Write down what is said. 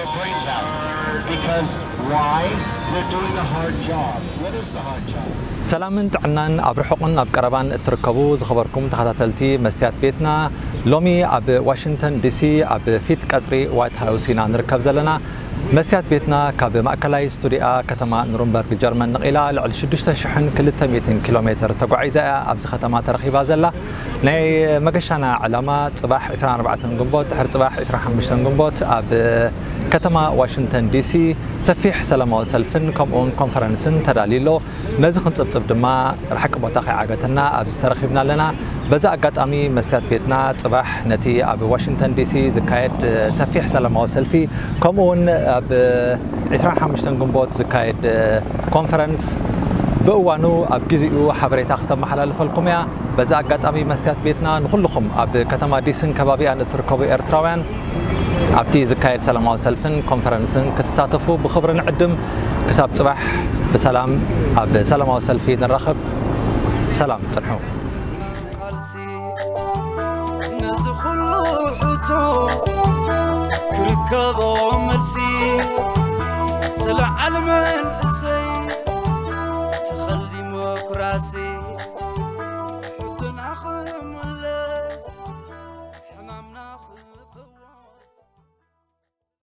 Their brains out. Because why? They're doing a hard job. What is the hard job? ሰላምን ጥዕናን ኣብ ርሑቕን ኣብ ቀረባን እትርከቡ ዝኸበርኩም ተኸታተልቲ መስትያት ቤትና፣ ሎሚ ኣብ ዋሽንግተን ዲሲ ኣብ ፊት ቀጽሪ ዋይት ሃውስ ኢና ንርከብ ዘለና። መስትያት ቤትና ካብ ማእከላይ ስቱዲያ ከተማ ኑርንበርግ ጀርመን ንቕላ ልዕሊ ሽዱሽተ ሽሕን ክልተ ሚእትን ኪሎ ሜትር ተጓዒዛ እያ ኣብዚ ከተማ ተረኺባ ዘላ። ናይ መገሻና ዕላማ ጽባሕ ዕስራን ኣርባዕተን ግንቦት፣ ድሕሪ ጽባሕ ዕስራን ሓሙሽተን ግንቦት ኣብ ከተማ ዋሽንግተን ዲሲ ሰፊሕ ሰላማዊ ሰልፍን ከምኡውን ኮንፈረንስን ተዳልዩ ኣሎ። ነዚ ክንጽብጽብ ድማ ርሓቂ ቦታ ከይዓገተና ኣብዚ ተረኺብና ኣለና። በዚ ኣጋጣሚ መስትያት ቤትና ጽባሕ ነቲ ኣብ ዋሽንግተን ዲሲ ዝካየድ ሰፊሕ ሰላማዊ ሰልፊ ከምኡውን ኣብ ዕስራን ሓሙሽተን ግንቦት ዝካየድ ኮንፈረንስ ብእዋኑ ኣብ ግዜኡ ሓበሬታ ክተመሓላልፈልኩም እያ። በዚ ኣጋጣሚ መስትያት ቤትና ንኹልኹም ኣብ ከተማ ዲስን ከባቢኣን እትርከቡ ኤርትራውያን ኣብቲ ዝካየድ ሰላማዊ ሰልፍን ኮንፈረንስን ክትሳተፉ ብኽብሪ ንዕድም። ክሳብ ጽባሕ ብሰላም ኣብ ሰላማዊ ሰልፊ ንራኸብ። ሰላም ጽንሑ። ቃልሲ ነዚ ኩሉ ሕቶ ክርከቦ መልሲ ዝለዓል መንእሰይ